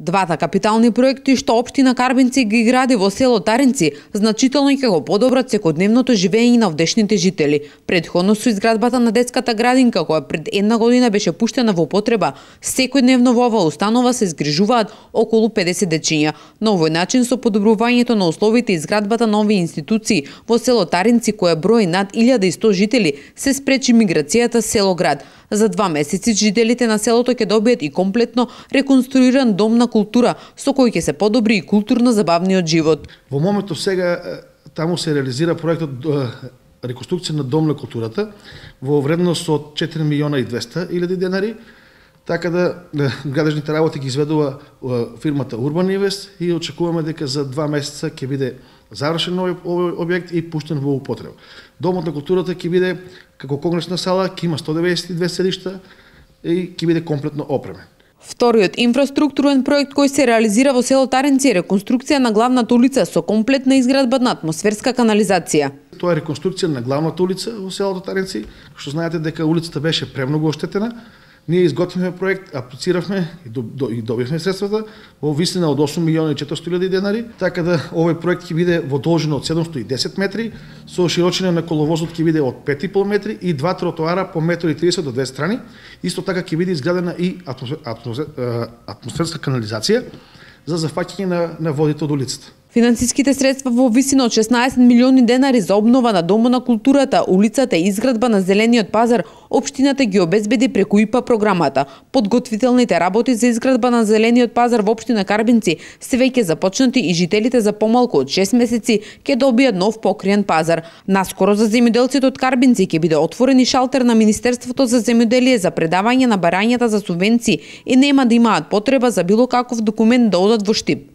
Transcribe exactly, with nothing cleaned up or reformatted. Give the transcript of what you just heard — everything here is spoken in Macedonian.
Двата капитални проекти што општина Карбинци ги гради во село Таринци значително ќе го подобрат секојдневното живење на овдешните жители. Претходно со изградбата на детската градинка која пред една година беше пуштена во употреба, секојдневно во оваа установа се згрижуваат околу педесет дечиња. На овој начин со подобрувањето на условите и изградбата на овие институции во село Таринци која брои над илјада и сто жители се спречи миграцијата село град. За два месеци жителите на селото ќе добијат и комплетно реконструиран дом на култура со кој ќе се подобри и културно-забавниот живот. Во моментов сега таму се реализира проектот реконструкција на дом на културата во вредност од четири милиона и двесте илјади денари, така да градежните работи ги изведува фирмата Urban Invest и очекуваме дека за два месеца ќе биде завршен овој објект и пуштен во употреба. Домот на културата ќе биде како конгресна сала, ќе има сто деветдесет и две седишта и ќе биде комплетно опремен. Вториот инфраструктурен проект кој се реализира во село Таринци е реконструкција на главната улица со комплетна изградба на атмосферска канализација. Тоа е реконструкција на главната улица во селото Таринци, што знаете дека улицата беше премногу оштетена. Ние изготвивме проект, аплициравме и добивме средствата во висина од осум милиона и четиристотини илјади денари, така да овој проект ќе биде во должина од седумстотини и десет метри, со широчина на коловозот ќе биде од пет и пол метри и два тротоара по метар и тридесет до две страни. Исто така ќе биде изградена и атмосферска канализација за зафаќање на, на водите од улицата. Финансиските средства во висина од шеснаесет милиони денари за обнова на Домот на културата, улицата и изградба на зелениот пазар, општината ги обезбеди преку ИПА програмата. Подготвителните работи за изградба на зелениот пазар во општина Карбинци се веќе започнати и жителите за помалку од шест месеци ќе добијат нов покриен пазар. Наскоро за земјоделците од Карбинци ќе биде отворен и шалтер на Министерството за земјоделие за предавање на барањата за субвенции и нема да имаат потреба за било каков документ да одат во Штип.